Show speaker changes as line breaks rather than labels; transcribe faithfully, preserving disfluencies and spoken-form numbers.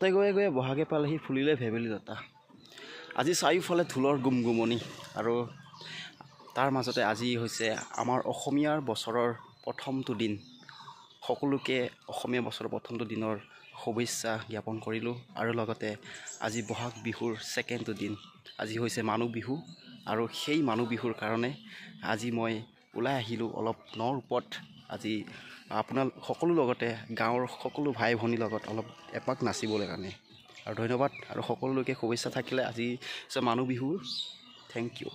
তাতে গৈ গৈ বহাগে পালেহি, ফুলিলে ভেবেলি লতা। আজি চাৰিওফালে ঢোলৰ গুমগুমনি আৰু তাৰ মাজতে আজি হৈছে আমাৰ অসমীয়াৰ বছৰৰ প্ৰথমটো দিন। সকলোকে অসমীয়া বছৰৰ প্ৰথমটো দিনৰ শুভেচ্ছা জ্ঞাপন কৰিলোঁ। আৰু লগতে আজি বহাগ বিহুৰ ছেকেণ্ডটো দিন, আজি হৈছে মানুহ বিহু। আৰু সেই মানুহ বিহুৰ কাৰণে আজি মই ওলাই আহিলোঁ অলপ ন ৰূপত। আজি আপোনালোক সকলো লগতে গাঁৱৰ সকলো ভাই ভনীৰ লগত অলপ এপাক নাচিবলৈ কাৰণে। আৰু ধন্যবাদ আৰু সকলোলৈকে শুভেচ্ছা থাকিলে। আজি হৈছে মানুহ বিহুৰ। Thank U.